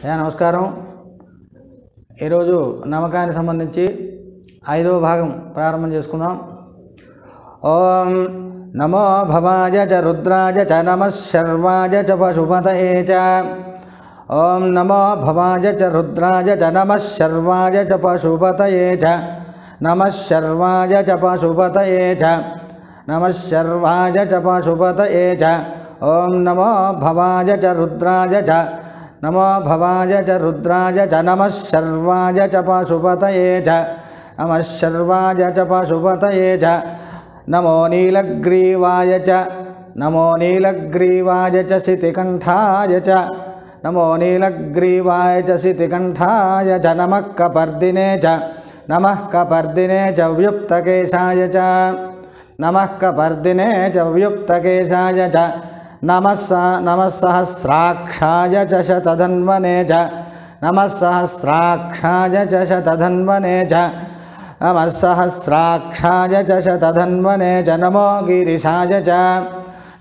నమస్కారం. ఈరోజు నమ్మకానికి సంబంధించి 5వ భాగం ప్రారంభం చేసుకుందాం. ఓం నమో భవాయ చ రుద్రాయ చ నమః శర్వాయ చ పశుపతయే చ. ఓం నమో భవాయ చ రుద్రాయ చ నమః శర్వాయ చ పశుపతయే చ. నమః శర్వాయ చ పశుపతయే చ. నమః శర్వాయ చ పశుపతయే చ. ఓం నమో భవాయ చ రుద్రాయ చ నమో భవాయ చ రుద్రాయ చ. నమః శర్వాయ చ పశుపతయే చ. నమః శర్వాయ చ పశుపతయే చ. నమో నీలగ్రీవాయ చ. నమో నీలగ్రీవాయ చ శితికంఠాయ చ. నమో నీలగ్రీవాయ చ శితికంఠాయ చ. నమః కపర్దినే చ. నమః కపర్దినే చ వ్యుక్తకేశాయ చ. నమః కపర్దినే చ వ్యుక్తకేశాయ చ. నమః సహస్రాక్షాయ చ శతధన్వనే చ. నమః సహస్రాక్షాయ చ శతధన్వనే చ. నమః సహస్రాక్షాయ చ శతధన్వనే చ. నమో గిరిశాయ చ.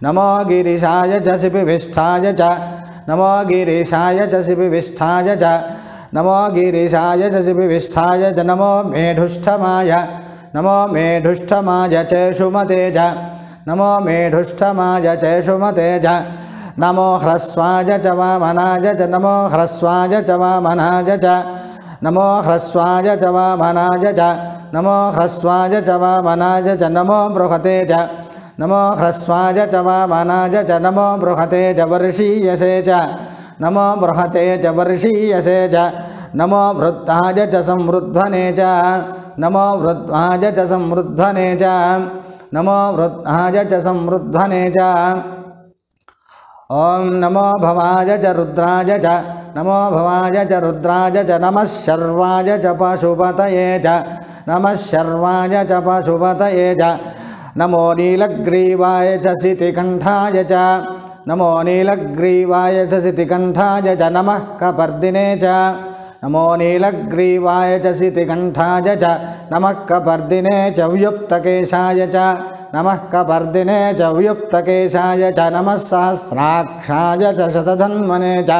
నమో గిరిశాయ చ శిపివిష్ఠాయ చ. నమో గిరిశాయ చ శిపివిష్ఠాయ చ. నమో గిరిశాయ చ శిపివిష్ఠాయ చ. నమో మేఢుష్ఠమాయ. నమో మేఢుష్ఠమాయ చేషుమతే చ. నమో మేఢుష్ఠమాయ చేషుమతే చ. నమో హ్రస్వాయ చ వామనాయ చ. నమో హ్రస్వాయ చ వామనాయ చ. నమో హ్రస్వాయ చ వామనాయ చ. నమో హ్రస్వాయ చ వామనాయ చ. నమో బృహతే చ. నమో హ్రస్వాయ చ వామనాయ చ. నమో బృహతే చ వర్షీయసే చ. నమో బృహతే చ వర్షీయసే చ. నమో వృద్ధాయ చ సంవృద్ధనే చ. నమో వృద్ధాయ చ సంవృద్ధనే చ. నమో వృద్ధాయ చ సంవృద్ధనే చ. ఓం నమో భవాయ చ రుద్రాయ చ. నమో భవాయ చ రుద్రాయ చ. నమః శర్వాయ చ పశుపతయే చ. నమః శర్వాయ చ పశుపతయే చ. నమో నీలగ్రీవాయ చ శితికంఠాయ చ. నమో నీలగ్రీవాయ చ శితికంఠాయ చ. నమః కపర్దినే చ. నమో నీలగ్రీవాయ చ శితికంఠాయ చ. నమః కపర్దినే చ వ్యుక్తకేశాయ చ. నమః కపర్దినే చ వ్యుక్తకేశాయ చ. నమః సహస్రాక్షాయ చ శతధన్వనే చ.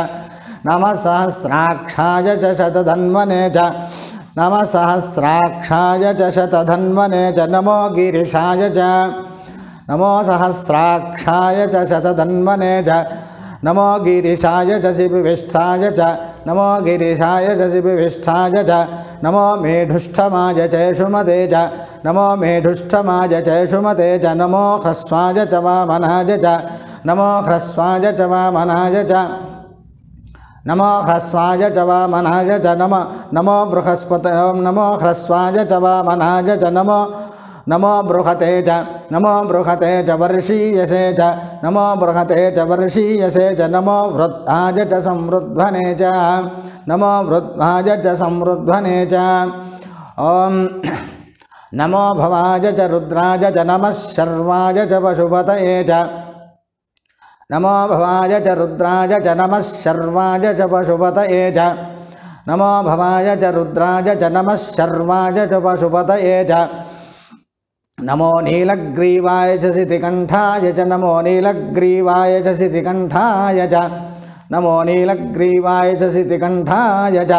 నమః సహస్రాక్షాయ చ శతధన్వనే చ. నమః సహస్రాక్షాయ చ శతధన్వనే చ. నమో గిరిశాయ చ. నమో సహస్రాక్షాయ చ శతధన్వనే చ. నమో గిరిశాయ చ శిపివిష్ఠాయ చ. నమో గిరిశాయ చ శిపివిష్ఠాయ చ. నమో మేఢుష్ఠమాయ చేషుమతే చ. నమో మేఢుష్ఠమాయ చేషుమతే చ. నమో హ్రస్వాయ చ వామనాయ చ. నమో హ్రస్వాయ చ వామనాయ చ. నమో హ్రస్వాయ చ వామనాయ చ. నమో బృహస్పతే. నమో హ్రస్వాయ చ వామనాయ చ. నమో బృహతే చ. నమో బృహతే చ వర్షీయసే చ. నమో బృహతే చ వర్షీయసే చ. నమో వృద్ధాయ చ సంవృద్ధనే చ. నమో వృద్ధాయ చ సంవృద్ధనే చ. ఓం నమో భవాయ చ రుద్రాయ చ. నమః శర్వాయ చ పశుపతయే చ. నమో భవాయ చ రుద్రాయ చ. నమః శర్వాయ చ పశుపతయే చ. నమో భవాయ చ రుద్రాయ చ. నమః శర్వాయ చ పశుపతయే చ. నమో నీలగ్రీవాయ చ శితికంఠాయ చ. నమో నీలగ్రీవాయ చ శితికంఠాయ చ. నమో నీలగ్రీవాయ చ శితికంఠాయ చ.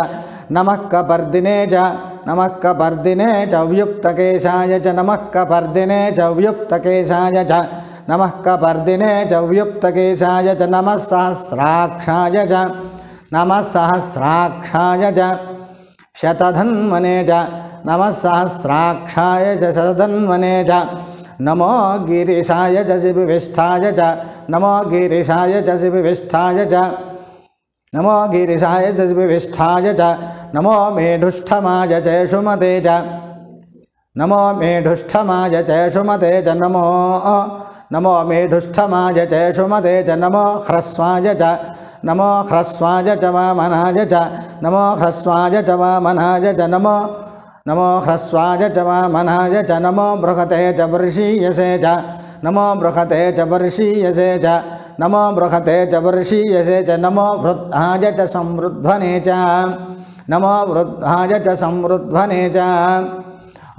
నమః కపర్దినే చ. నమః కపర్దినే చ వ్యుక్తకేశాయ చ. నమః కపర్దినే చ వ్యుక్తకేశాయ చ. నమః కపర్దినే చ వ్యుక్తకేశాయ చ. నమః సహస్రాక్షాయ చ. నమః సహస్రాక్షాయ చ శతధన్వనే చ. నమః సహస్రాక్షాయ చ శతధన్వనే చ. నమో గిరిశాయ చ శిపివిష్ఠాయ చ. నమో గిరిశాయ చ శిపివిష్ఠాయ చ. నమో గిరిశాయ చ శిపివిష్ఠాయ చ. నమో మేఢుష్ఠమాయ చేషుమతే చ. నమో మేఢుష్ఠమాయ చేషుమతే చ. నమో మేఢుష్ఠమాయ చేషుమతే చ. నమో హ్రస్వాయ చ. నమో హ్రస్వాయ చ వామనాయ చ. నమో హ్రస్వాయ చ వామనాయ చ. నమో హ్రస్వాయ చ వామనాయ చ. నమో బృహతే చ వర్షీయసే చ. నమో బృహతే చ వర్షీయసే చ. నమో బృహతే చ వర్షీయసే చ. నమో వృద్ధాయ చ సంవృద్ధనే చ. నమో వృద్ధాయ చ సంవృద్ధనే చ.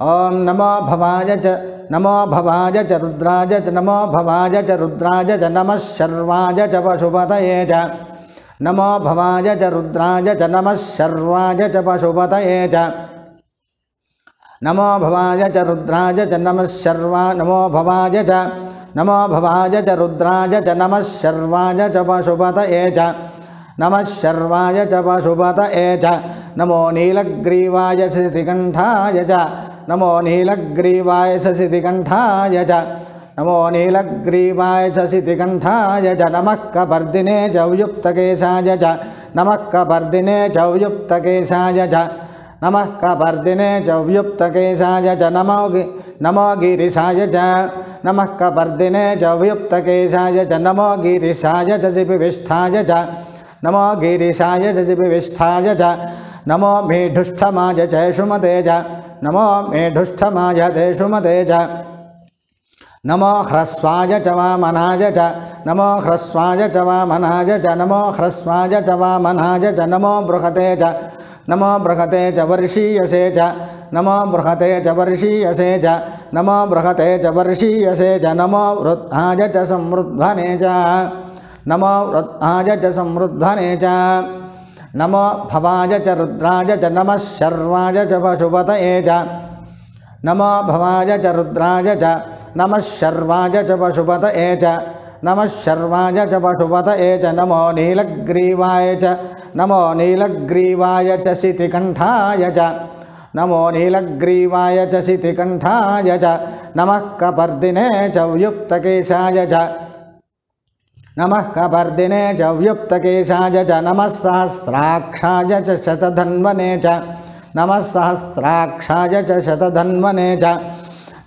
ఓం నమో భవాయ చ. నమో భవాయ చ రుద్రాయ చ. నమో భవాయ చ రుద్రాయ చ. నమః శర్వాయ చ పశుపతయే చ. नमो भवाय च रुद्राय च नमः शर्वाय च पशुपतये च नमो भवाय च रुद्राय च नमः शर्वा नमो भवाय च रुद्राय च नमः शर्वाय च पशुपतये च नमः शर्वाय च पशुपतये च नमो नीलग्रीवाय शशिकण्ठाय च नमो नीलग्रीवाय शशिकण्ठाय च नमो नीलग्रीवाय शशिकण्ठाय च नमः कपर्दिने च युक्तकेशाय च नमः कपर्दिने च युक्तकेशाय च नमः कपर्दिने च युक्तकेशाय च नमो गिरिशाय च नमः कपर्दिने च युक्तकेशाय च नमो गिरिशाय च शिपिविष्ठाय च नमो गिरिशाय च शिपिविष्ठाय च नमो मेढुष्ठमाय च शुमते च नमो मेढुष्ठमाय ते शुमते च नमो ह्रस्वाय च वामनाय च नमो ह्रस्वाय च वामनाय च नमो ह्रस्वाय च वामनाय च नमो बृहते च नमो बृहते च वर्षीयसे च नमो बृहते च वर्षीयसे च नमो बृहते च वर्षीयसे च नमो वृद्धाय च समृद्ध्वने च नमो वृद्धाय च समृद्ध्वने च नमो भवाय च रुद्राय च नमः शर्वाय च पशुपतये च नमो भवाय च रुद्राय च नमः शर्वाय च पशुपतये च नमः शर्वाय च पशुपतये च नमो नीलग्रीवाय च शितिकण्ठाय च नमो नीलग्रीवाय च शितिकण्ठाय च नमः कपर्दिने च युक्तकेशाय च नमः कपर्दिने च युक्तकेशाय च नमः सहस्राक्षाय च शतधन्वने च नमः सहस्राक्षाय च शतधन्वने च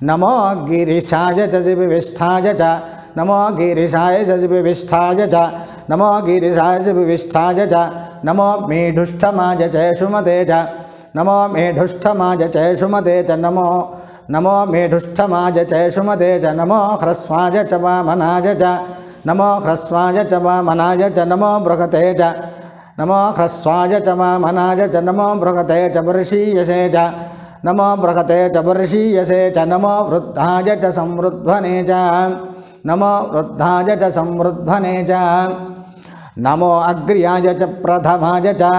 नमो गिरिशाय च शिपिविष्ठाय च नमो गिरिशाय च शिपिविष्ठाय च नमो गिरिशाय च शिपिविष्ठाय च नमो मेढुष्ठमाय च शुमते च नमो मेढुष्ठमाय च शुमते च नमो मेढुष्ठमाय च शुमते च नमो ह्रस्वाय च वामनाय च नमो ह्रस्वाय च वामनाय च नमो बृहते च नमो ह्रस्वाय च वामनाय च नमो बृहते च वर्षीयसे च नमो बृहते च वर्षीयसे च नमो वृद्धाय च समृद्ध्वने च नमो वृद्धाय च समृद्ध्वने च नमो अग्र्याय च प्रथमाय च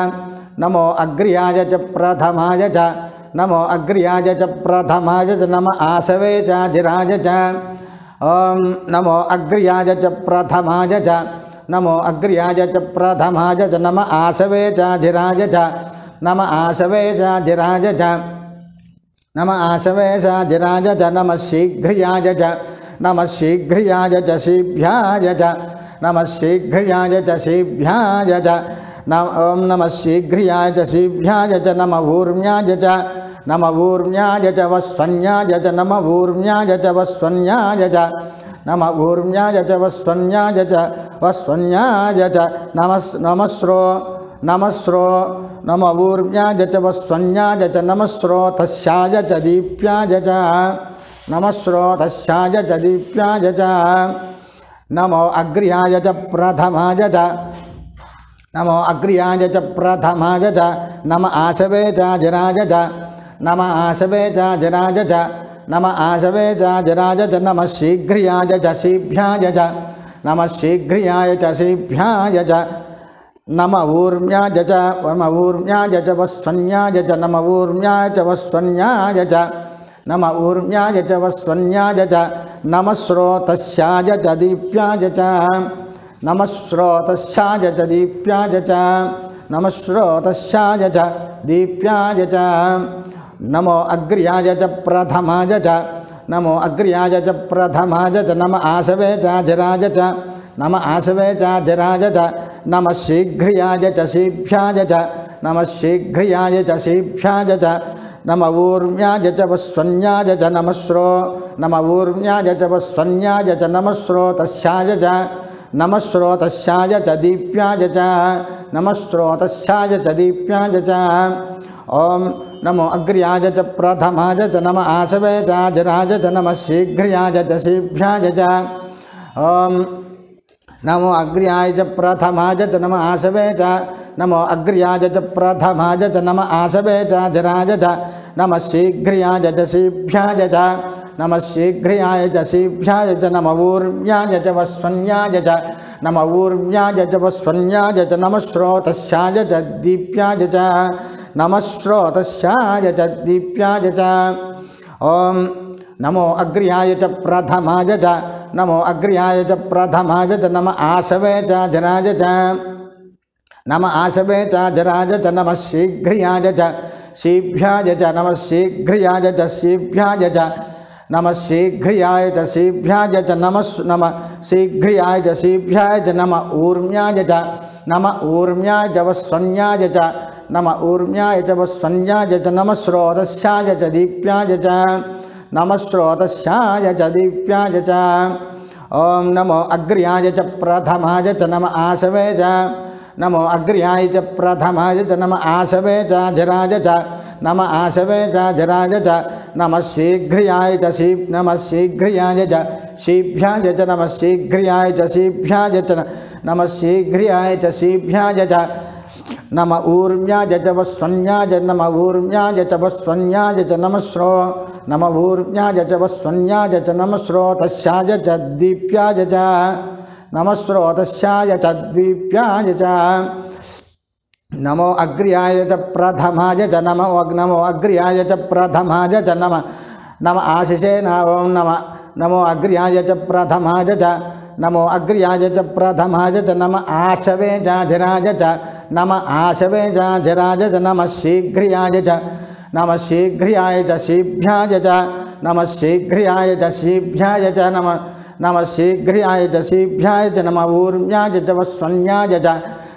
नमो अग्र्याय च प्रथमाय च नमो अग्र्याय च प्रथमाय च नम आसवे च जिराय च ॐ नमो अग्र्याय च प्रथमाय च नमो अग्र्याय च प्रथमाय च नम आसवे च जिराय च नम आसवे च जिराय च नम आसवे च जिराय च नमः शीघ्रियाय च नमः शीघ्रियाय च शीभ्याय च नमः शीघ्रियाय च शीभ्याय च ॐ नमः शीघ्रियाय च शीभ्याय च नमः ऊर्म्याय च नमः ऊर्म्याय च वस्वन्याय च नमः ऊर्म्याय च वस्वन्याय च नमः ऊर्म्याय च वस्वन्याय च नमस्रो नमः ऊर्म्याय च वस्वन्याय च नमस्रोतस्याय च दीप्याय च नमस्रोतस्याय च दीप्याय च नमो अग्र्याय च प्रथमाय च नमो अग्र्याय च प्रथमाय च नम आसवे च जिराय च नम आसवे च जिराय च नम आसवे च जिराय च नमः शीघ्रियाय च शीभ्याय च नमः शीघ्रियाय च शीभ्याय च नम ऊर्म्याय च वस्वन्याय च नम ऊर्म्याय च वस्वन्याय च नम ऊर्म्याय च वस्वन्याय च नमस्रोतस्याय च दीप्याय च नमस्रोतस्याय च दीप्याय च नमस्रोतस्याय च दीप्याय च नमो अग्र्याय च प्रथमाय च नमो अग्र्याय च प्रथमाय च नम आसवे च जिराय च नम आसवे च जिराय च नमः शीघ्रियाय च शीभ्याय च नमः शीघ्रियाय च शीभ्याय च नम ऊर्म्याय च वस्वन्याय च नम ऊर्म्याय च वस्वन्याय च नमस्रोतस्याय च नमस्रोतस्याय च दीप्याय च नमस्रोतस्याय च दीप्याय च ॐ नमो अग्र्याय च प्रथमाय च नम आसवे च जिराय च नमः शीघ्रियाय च शीभ्याय च ॐ नमो अग्र्याय च प्रथमाय च नम आसवे च नमो अग्र्याय च प्रथमाय च नम आसवे च जिराय च नमः शीघ्रियाय च शीभ्याय च नमः शीघ्रियाय च शीभ्याय च नम ऊर्म्याय च वस्वन्याय च नम ऊर्म्याय च वस्वन्याय च नमः श्रोतस्याय च दीप्याय च नमः श्रोतस्याय च दीप्याय च ओम नमो अग्र्याय च प्रथमाय च नमो अग्र्याय च प्रथमाय च नम आसवे च जराय च नम आसवे च जराय च नमः शीघ्र्याय च शीभ्याय च नमः शीघ्र्याय च शीभ्याय च नमः शीघ्र्याय च शीभ्याय च नमः शीघ्र्याय च शीभ्याय च नम ऊर्म्याय च वस्वन्याय च नम ऊर्म्याय च वस्वन्याय च नमः श्रोतस्याय च दीप्याय च नमः श्रोतस्याय च दीप्याय च ओम नमो अग्र्याय च प्रथमाय च नम आसवे च नमो अग्र्याय च प्रथमाय च नम आसवे च जराय च नम आसवे च जराय च नमः शीघ्र्याय च नमः शीघ्र्याय च शीभ्याय च नमः शीघ्र्याय च शीभ्याय च नमः शीघ्र्याय च शीभ्याय च नम ऊर्म्याय च वस्वन्याय नम ऊर्म्याय च वस्वन्याय च नम ऊर्म्याय च वस्वन्याय च नमः श्रोतस्याय च दीप्याय च नमः श्रोतस्याय च दीप्याय च नमो अग्र्याय च प्रथमाय च नमो अग्र्याय च प्रथमाय च नम आशिषे नमो अग्र्याय च प्रथमाय च नमो अग्र्याय च प्रथमाय च नम आशवे च जराय च नम आशवे च जराय च नमः शीघ्र्याय च शीभ्याय च नमः शीघ्र्याय च शीभ्याय च नमः शीघ्र्याय च शीभ्याय च नम ऊर्म्याय च वस्वन्याय च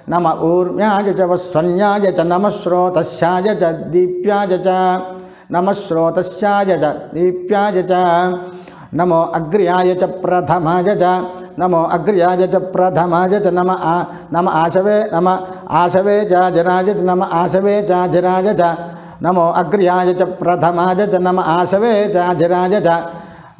नम ऊर्म्याय च वस्वन्याय च नमः श्रोतस्याय च दीप्याय च नमः श्रोतस्याय च दीप्याय च नमो अग्र्याय च प्रथमाय च नमो अग्र्याय च प्रथमाय च नम आशवे च जराय च नम आशवे च जराय च नमो अग्र्याय च प्रथमाय च नम आशवे च जराय च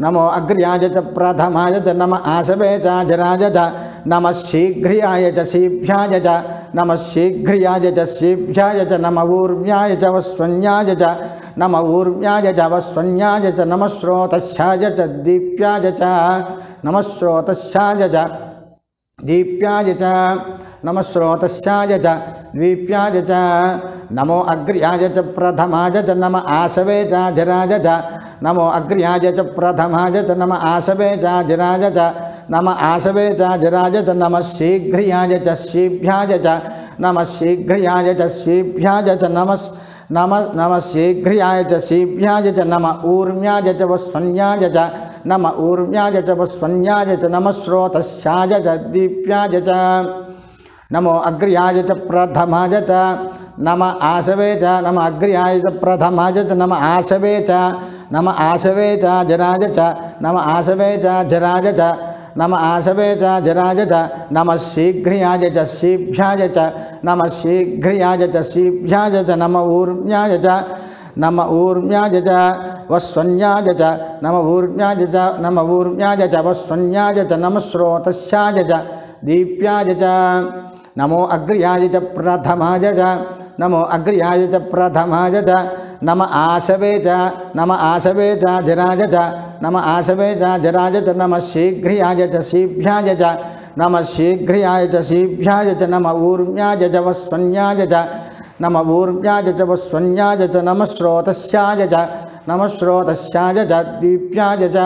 नमो अग्र्याय च प्रथमाय च नम आशवे च जराय च नमः शीघ्र्याय च शीभ्याय च नमः शीघ्र्याय च शीभ्याय च नम ऊर्म्याय च वस्वन्याय च नम ऊर्म्याय च वस्वन्याय च नमः श्रोतस्याय च दीप्याय च नमः श्रोतस्याय च दीप्याय च नमः श्रोतस्याय च दीप्याय च नमो अग्र्याय च प्रथमाय च नम आसवे च जराय च नमो अग्र्याय च प्रथमाय च नम आसवे च जराय च नम आसवे च जराय च नमः शीघ्र्याय च शीभ्याय च नमः शीघ्र्याय च शीभ्याय च नमः शीघ्र्याय च शीभ्याय च नम ऊर्म्याय च वस्वन्याय च नम ऊर्म्याय च वस्वन्याय च नमः श्रोतस्याय च दीप्याय च नमो अग्र्याय च प्रथमाय च नम आसवे च नम अग्र्याय च प्रथमाय च नम आसवे च जराय च नम आसवे च जराय च नम आसवे च जराय च नमः शीघ्र्याय च शीभ्याय च नमः शीघ्र्याय च शीभ्याय च नम ऊर्म्याय च वस्वन्याय च नम ऊर्म्याय च वस्वन्याय च नमः श्रोतस्याय च दीप्याय च नमो अग्र्याय च प्रथमाय च नमो अग्र्याय च प्रथमाय च नम आसवे च जराय च नम आसवे च जराय च नमः शीघ्र्याय च शीभ्याय च नमः शीघ्र्याय च शीभ्याय च नम ऊर्म्याय च वस्वन्याय च नम ऊर्म्याय च वस्वन्याय च नमः श्रोतस्याय च दीप्याय च